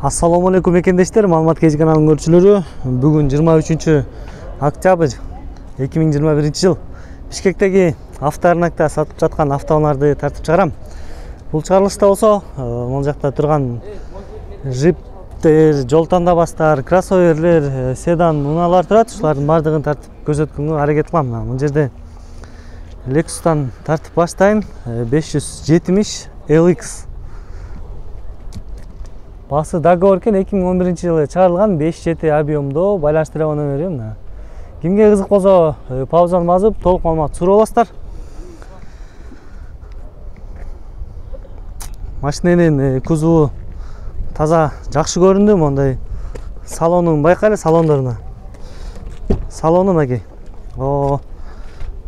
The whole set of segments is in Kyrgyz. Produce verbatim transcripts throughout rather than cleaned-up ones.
Ассаламу алейкум мекендештер, маалымат кези каналынын көрүүчүлөрү. Бүгүн жыйырма үчүнчү октябрь эки миң жыйырма биринчи жыл Бишкектеги авторынокто сатып жаткан автоунааларды тартып чыгарам. Бул чыгарылышта болсо, могул жакта турган жиптер, жол тандабастар, кроссоверлер, седан, унаалар турат. Ушулардын баардыгын тартып көрсөткөнгө аракет кылам. Бул жерде Lexus'тан тартып баштайм. беш жүз жетимиш эл икс. Басы договор экен, эки миң он биринчи жылы чыгарылган, беш жети объемдо, байланыштыра номери мына. Кимге кызык болсо, паузаны басып, толук маалымат сурап аласыздар. Машиненин кузову таза жакшы көрүндү, мондай салонун байкайлы, салондоруна. Салону мынакей. О,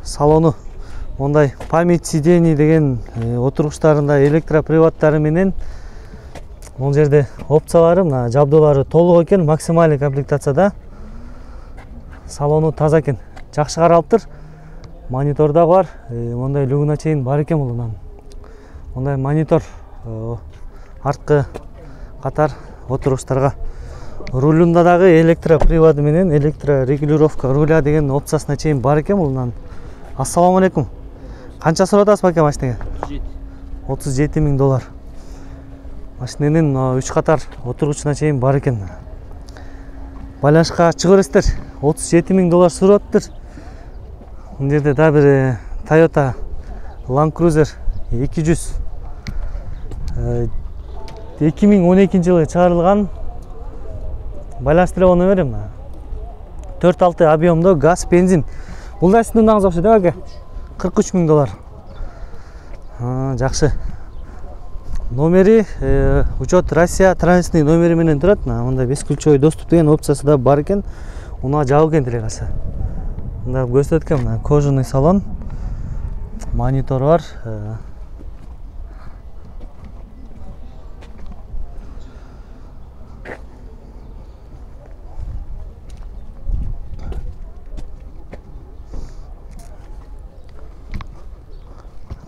салону мондай память сидений деген отургучтарында электроприводдары менен бул жерде опциялары, мына жабдуулары толук экен, максималдык комплектацияда. Салону таза экен, жакшы каралыптыр. Монитор да бар, мондай люгуна чейин бар экен бул. Мондай монитор арткы катар отургучтарга. Рулунда дагы электроприводу менен электрорегулировка руля деген опциясына чейин бар экен бул. Ассаламу алейкум. Канча сурап атасыз баке машинеге? отуз жети миң доллар. Машиненин үч катар отургучуна чейин бар экен. Байланышка чыгып бересиздер. отуз жети миң доллар сураптыр. Бул жерде да бир Toyota Land Cruiser эки жүз эки миң он экинчи жылы чыгарылган. Байланыштыра номери мына. төрт алты объемдо газ, бензин. Бул да сиздин унааңыз окшойт, баке? кырк үч миң доллар. Жакшы. Номери учет Россия транзитный номери менен турат. Мында бескүлчөй доступ деген опциясы да бар экен. Унаа жабык экен тилегасы. Мында көрсөткөн мына кожаный салон. Монитор бар.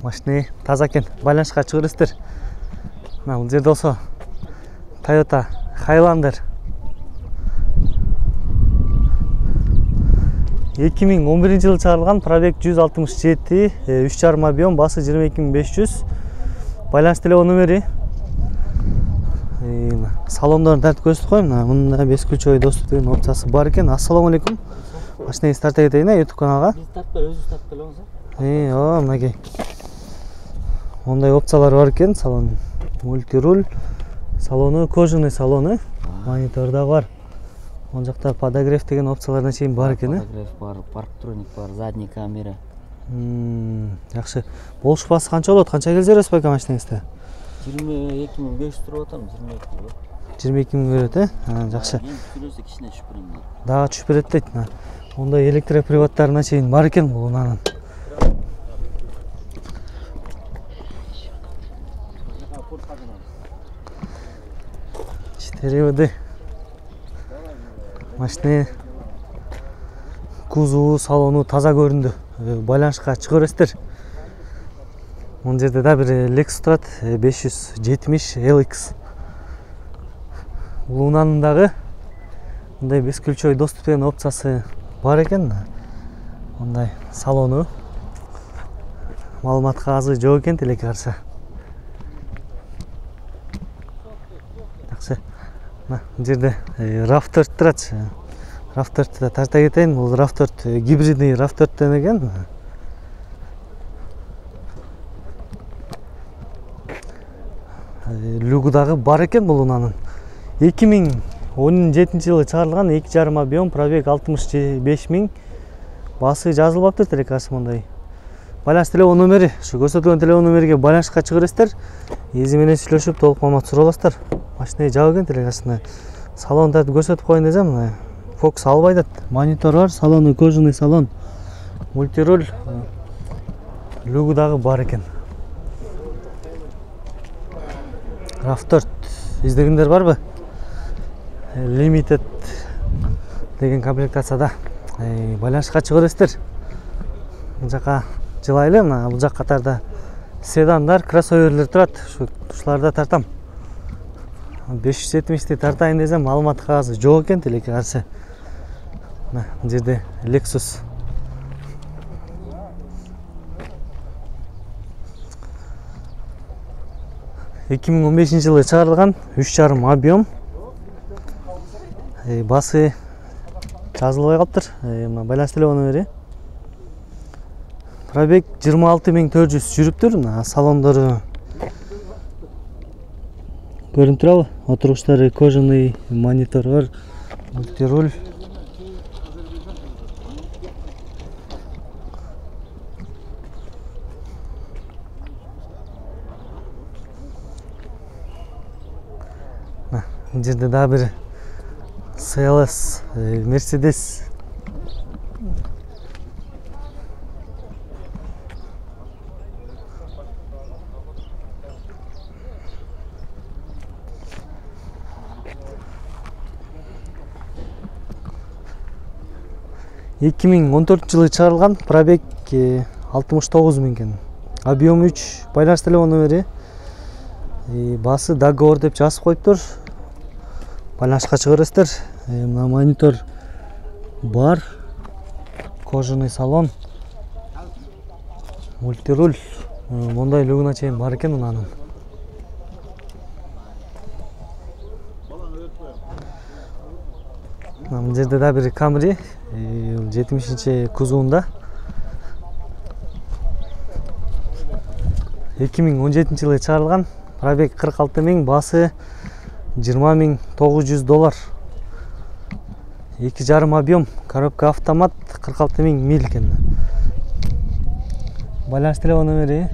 Машина таза экен. Байланышка чыгып бересиздер. Мына бул жерде болсо Toyota Highlander эки миң он биринчи жылы чыгарылган, пробег жүз алтымыш жети, үч жарым объем, басы жыйырма эки миң беш жүз. Байланыш телефон номери. Салондорун тартып көрсөтүп коем. Мында бескүлчөй доступ деген опциясы бар экен. Ассаламу алейкум. Машинеңизди тарта кетейин, YouTube каналга. Биз тартпай, өзүңүз тартып келиңиз. Э, о, мынакей. Мондай опциялар бар экен. Салон мультируль, салону кожаный салону, монитор да бар. Мон жакта подогрев деген опцияларына чейин бар экен. Подогрев бар, парктроник бар, задний камера. Жакшы. Болушпасы канча болот? Канча келе бересиз баке машинеңизде? жыйырма эки миң беш жүз туруп атам, жыйырма эки болот. жыйырма эки миң берет, э? Жакшы. Эми түшүрөсө кичине түшүп берем. Дагы түшүп берет дейт. Ондай электроприводдоруна чейин бар экен бул унанын. четыре Машина кузову, салону таза көрүндү. Байланышка чыгып бересиздер. Бул жерде да бир Lexus турат, беш жүз жетимиш эл икс. Бул унанын дагы мындай бескүлчөй доступ деген опциясы бар экен. Мындай салону маалымат кагазы жок экен, тилекке каршы. Жакшы. Мына жерде рав төрт турат. рав төрттү да тарта кетейин. Бул рав төрт гибридный рав төрттөн экен. Люгу дагы бар экен бул унанын. эки миң он жетинчи жылы чыгарылган, эки жарым объем, пробег алтымыш беш миң. Басы жазылбаптыр, тилек каршы мондай. Байланыш телефон номери, ушу көрсөтүлгөн телефон номериге байланышка чыгып бересиздер. Эзи менен сүйлөшүп толук маалымат сурап аласыздар. Машина жабык экен, тилек каршы. Салон тартып көрсөтүп коеюн десем, мына фокус албай атат. Монитор бар, салону кожаный салон. Мультируль, люгу дагы бар экен. рав төрт издегендер барбы? Limited деген комплектацияда. Байланышка чыгып бересиздер. Бул жака жылайлы, мына бул жак катарда седандар, кроссоверлер турат. Ушуларда тартам. беш жүз жетимишти тартайын десем маалымат кагазы жок экен тилекке каршы. Мына бул жерде Lexus эки миң он бешинчи жылы чыгарылган, үч жарым объем. Басы жазылбай калыптыр. Мына байланыш телефону бери. Пробег жыйырма алты миң төрт жүз жүрүптүр. Салондору көрүнүп турабы? Отургучтары кожаный, монитор бар, мультируль. Бул жерде дагы бир си эл эс Mercedes. эки миң он төртүнчү жылы чыгарылган, пробег алтымыш тогуз миң экен. Объем үч, байланыш телефону бери. Басы договор деп жазып коюптур. Байланышка чыга бересиздер. Мына монитор бар. Кожаный салон. Мультируль. Мондай люгуна чейин бар экен мынанын. Мына жерде да бир Camry жетимишинчи кузовунда. эки миң он жетинчи жылы чыгарылган, пробег кырк алты миң, басы жыйырма миң тогуз жүз доллар. эки жарым объем, коробка автомат, кырк алты миң миль экен. Байланыш телефону бери.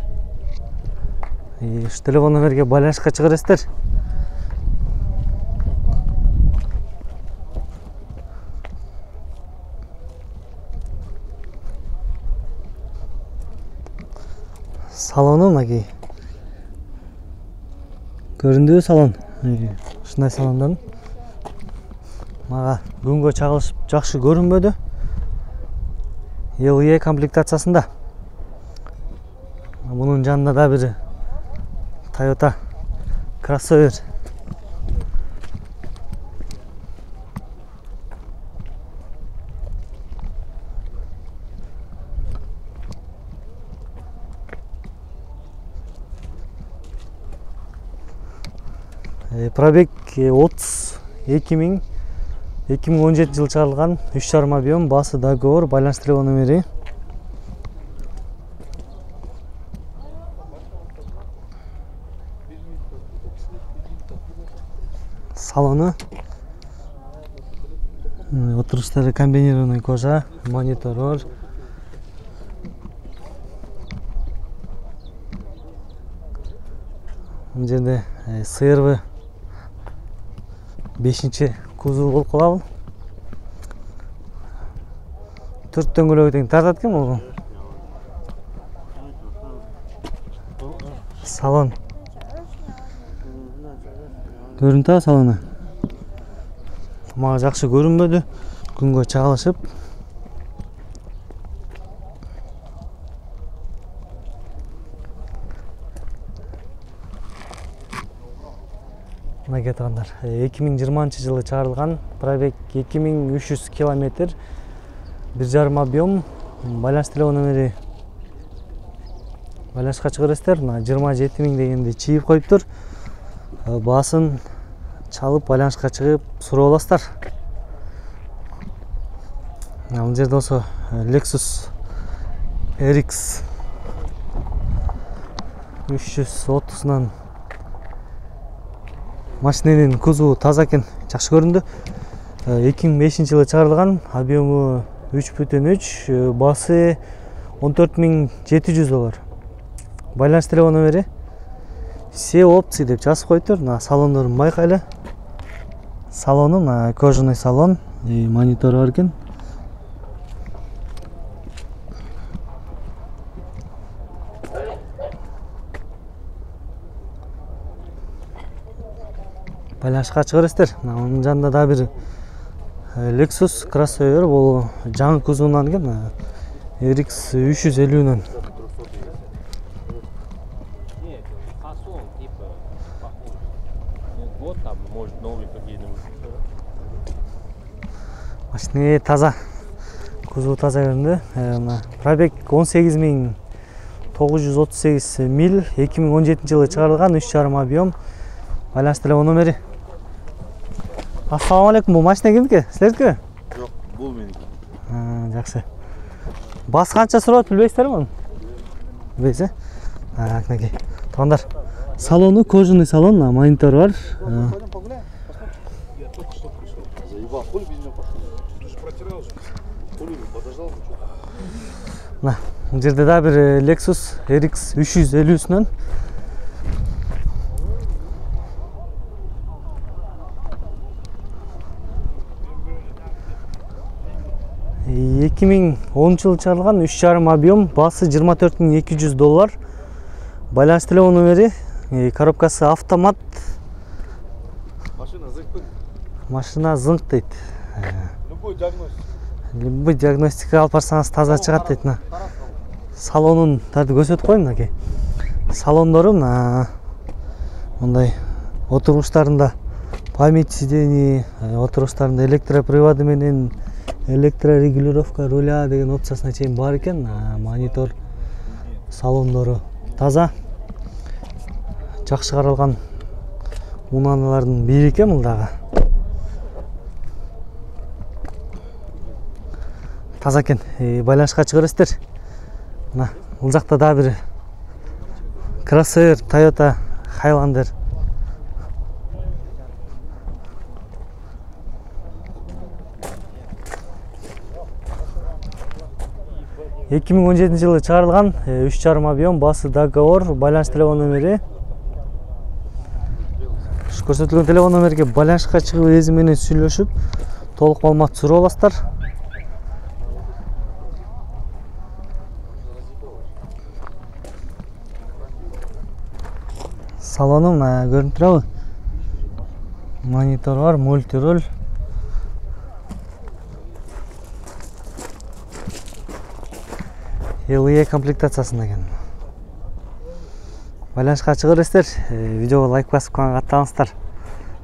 Ушу телефон номерге байланышка чыга бересиздер. Салону мынакей. Көрүндүбү салон? Ушундай салондан. Мага күнгө чагылышып жакшы көрүнбөдү. эл и комплектациясында. Мунун жанында да бир Toyota Crossover. Пробег отуз эки миң, эки миң он жетинчи жылы чыгарылган, үч жарым объем, басы договор, байланыш телефону бери. Салону. Отургучтары комбинированный кожа, монитор бар. Бул жерде си эр ви бешинчи кузов болуп калабы. Төрт дөңгөлөгү тең тартат экен бул. Салон. Көрүнүп атабы салону? Мага жакшы көрүнбөдү. Күнгө чагылышып. Мына кеткандар. эки миң жыйырманчы жылы чыгарылган, пробег эки миң үч жүз километр, бир жарым объем, байланыш телефону бери. Байланышка чыга бересиздер. Мына жыйырма жети миң дегенди чийип коюптур. Басын чалып байланышка чыгып сурап аласыздар. Бул жерде болсо Lexus эр икс үч жүз отузунан машиненин кузову таза экен, жакшы көрүндү. эки миң бешинчи жылы чыгарылган, объему үч бүтүн үч, басы он төрт миң жети жүз доллар. Байланыш телефону бери. Все опции деп жазып коюптур. Мына салондорун байкайлы. Салону мына кожаный салон, монитор бар экен. Байланышка чыга бересиздер. Анын жанында да бир Lexus Crossover, бул жаңы кузовунан экен, эр икс үч жүз элүүнөн. Нет, фасон типа похож. Вот там новый какие-нибудь. Машина таза. Кузову таза көрүндү. Мына пробег он сегиз миң тогуз жүз отуз сегиз миль, эки миң он жетинчи жылы чыгарылган, үч жарым объем. Байланыш телефон номери. Ассаламу алейкум, бул машина кимдики? Силердикиби? Жок, бул меники. Жакшы. Бас канча сурат билбейсиздерби муну? Билбейсиз, э? Так, мынакей. Туугандар, салону кожаный салон, монитор бар. Пойдем погуляем, посмотрим. Я только что пришел. Заебал, хули без меня пошел? Ты же протирал же. Хули подождал, ну что? Мына, бул жерде да бир Lexus эр икс үч жүз элүүсүнөн эки миң онунчу жылы чыгарылган, үч жарым объем, баасы жыйырма төрт миң эки жүз доллар. Байланыш телефон номери, коробкасы автомат. Машина зык. Машина зыңк дейт. Любой диагностика. Любой диагностика алып барсаңыз таза чыгат дейт. Салонун тарды көрсөтүп коеюн мынакей. Салондору мына мындай отургучтарында память сидений, отургучтарында электроприводы менен электрорегулировка руля деген опциясына чейин бар экен. Монитор, салондору таза. Жакшы каралган унаналардын бири экен бул дагы. Таза экен. Байланышка чыга бересиздер. Мына бул жакта да бир Crossair Toyota Highlander. эки миң он жетинчи жылы чыгарылган, үч жарым объем, баасы договор, байланыш телефон номери. Көрсөтүлгөн телефон номерге байланышка чыгып эзи менен сүйлөшүп, толук маалымат суроо аласыздар. Салону мына көрүнүп турабы? Монитор бар, мультироль. эл и комплектациясында экен. Байланышка чыга бересиздер. Видеого лайк басып каттаңыздар.